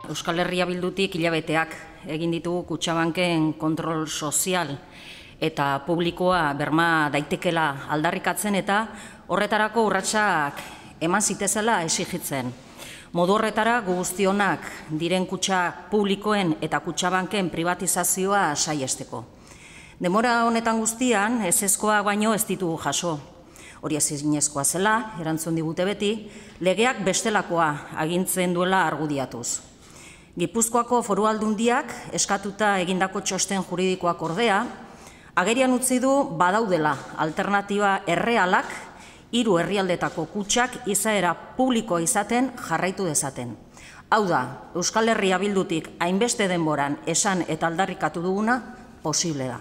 Euskal Herria Bildutik hilabeteak egin ditugu Kutxabanken kontrol sozial eta publikoa berma daitekela aldarrikatzen eta horretarako urratsak eman zitezela exigitzen. Modu horretara guztionak diren kutxa publikoen eta Kutxabanken privatizazioa saiesteko. Denbora honetan guztian ezezkoa baino ez ditugu jaso. Hori ezinezkoa zela, erantzun digute beti, legeak bestelakoa agintzen duela argudiatuz. Gipuzkoako Foru Aldundiak eskatuta egindako txosten juridikoak ordea, agerian utzi du badaudela alternatiba errealak 3 herrialdetako kutxak izaera publikoa izaten jarraitu dezaten. Hau da, Euskal Herria Bildutik hainbeste denboran esan eta aldarrikatu duguna posible da.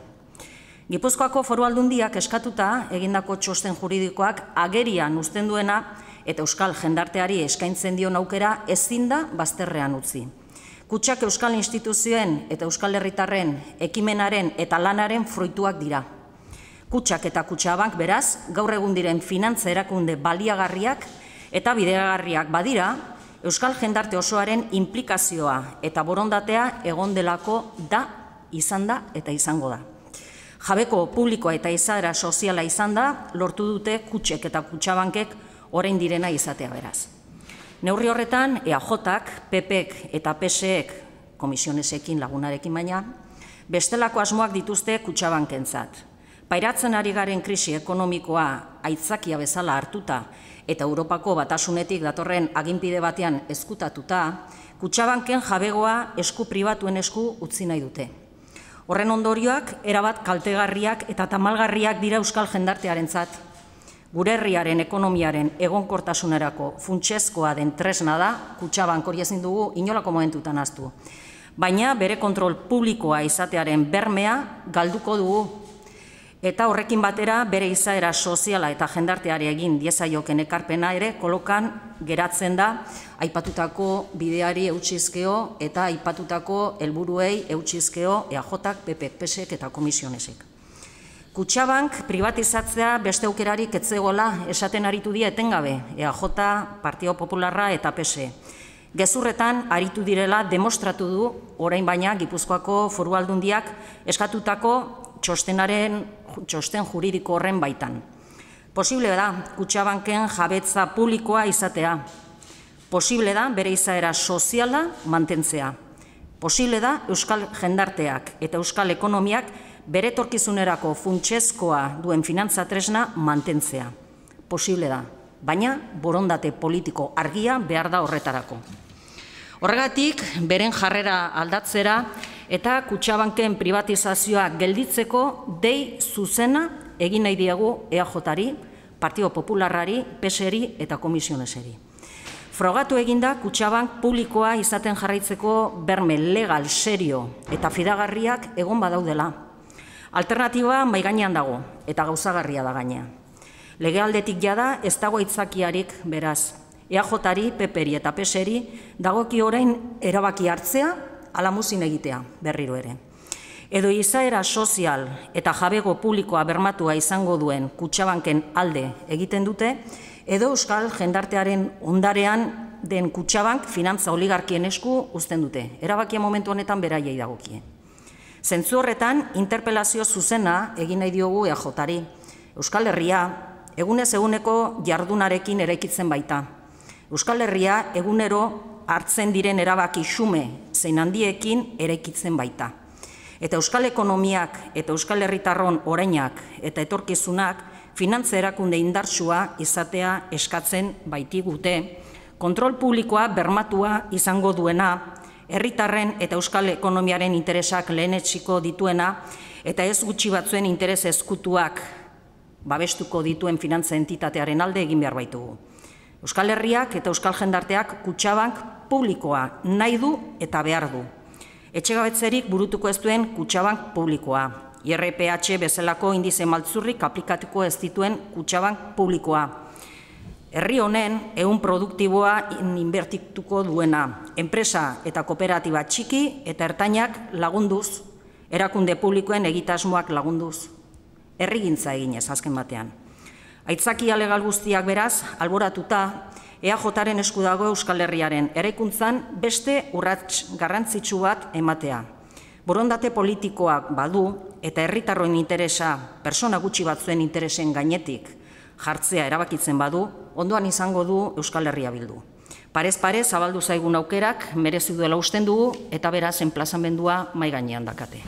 Gipuzkoako Foru Aldundiak eskatuta egindako txosten juridikoak agerian uzten duena eta euskal jendarteari eskaintzen dion aukera ezin da bazterrean utzi. Kutxak euskal instituzioen eta euskal herritarren ekimenaren eta lanaren fruituak dira. Kutxak eta Kutxabank beraz, gaur egun diren finantza erakunde baliagarriak eta bideragarriak badira, euskal jendarte osoaren inplikazioa eta borondatea egon delako da, izan da eta izango da. Jabeko publikoa eta izaera soziala izan da, lortu dute Kutxek eta Kutxabankek orain direna izatea beraz. Neurri horretan, EAJak, PPek eta PSek, komisionesekin lagunarekin baina, bestelako asmoak dituzte Kutxabankentzat. Pairatzen ari garen krisi ekonomikoa aitzakia bezala hartuta eta Europako Batasunetik datorren aginpide batean ezkutatuta, Kutxabanken jabegoa esku pribatuen esku utzi nahi dute. Horren ondorioak erabat kaltegarriak eta tamalgarriak dira euskal jendartearentzat. Gure herriaren ekonomiaren egonkortasunerako funtsezkoa den tresna da, Kutxabank hori ezin dugu inolako momentutan ahaztu. Baina bere kontrol publikoa izatearen bermea galduko dugu. Eta horrekin batera bere izaera soziala eta jendarteari egin diezaioken ekarpena ere kolokan geratzen da aipatutako bideari eutxizkeo eta aipatutako helburuei eutxizkeo EAJak, PPek, PSek eta komisionesek. Kutxabank privatizatzea beste aukerarik ez zegoela esaten aritu dira etengabe, EAJ, Partido Popularra eta PSE. Gezurretan aritu direla demostratu du, orain baina Gipuzkoako Foru Aldundiak eskatutako txosten juridiko horren baitan. Posible da Kutxabanken jabetza publikoa izatea. Posible da bere izaera soziala mantentzea. Posible da euskal jendarteak eta euskal ekonomiak bere etorkizunerako funtsezkoa duen finantza tresna mantentzea. Posible da, baina borondate politiko argia behar da horretarako. Horregatik, beren jarrera aldatzera eta Kutxabanken privatizazioa gelditzeko dei zuzena egin nahi diegu EAJari, Partido Popularrari, PSeri eta komisioneseri. Frogatu eginda Kutxabank publikoa izaten jarraitzeko berme legal, serio eta fidagarriak egon badaudela. Alternatiba maigainean dago eta gauzagarria da gainea. Legealdetik jada ez dago aitzakiarik beraz. EAJari, PPeri eta PSeri dagoki orain erabaki hartzea ala muzin egitea berriro ere. Edo izaera sozial eta jabego publikoa bermatua izango duen Kutxabanken alde egiten dute, edo euskal jendartearen ondarean den Kutxabank finantza oligarkien esku uzten dute. Erabakia momentu honetan beraiei dagokie. Zentzu horretan, interpelazio zuzena egin nahi diogu EAJari. Euskal Herria egunez eguneko jardunarekin eraikitzen baita. Euskal Herria egunero hartzen diren erabaki xume zein handiekin eraikitzen baita. Eta euskal ekonomiak eta euskal herritarron orainak eta etorkizunak finantza erakunde indartsua izatea eskatzen baitigute, kontrol publikoa bermatua izango duena, herritarren eta euskal ekonomiaren interesak lehenetsiko dituena eta ez gutxi batzuen interes ezkutuak babestuko dituen finantza entitatearen alde egin behar baitugu. Euskal Herriak eta euskal jendarteak Kutxabank publikoa nahi du eta behar du. Etxegabetzerik burutuko ez duen Kutxabank publikoa. IRPH bezalako indize maltzurrik aplikatuko ez dituen Kutxabank publikoa. Herri honen ehun produktiboa inbertituko duena. Enpresa eta kooperatiba txiki eta ertainak lagunduz, erakunde publikoen egitasmoak lagunduz. Herrigintza eginez azken batean. Aitzakia legal guztiak beraz, alboratuta EAJaren esku dago Euskal Herriaren eraikuntzan beste urrats garrantzitsu bat ematea. Borondate politikoak badu eta herritarroen interesa persona gutxi batzuen interesen gainetik jartzea erabakitzen badu, ondoan izango du Euskal Herria Bildu. Parez pare zabaldu zaigun aukerak merezi duela usten dugu eta beraz enplazamendua mahai gainean dakate.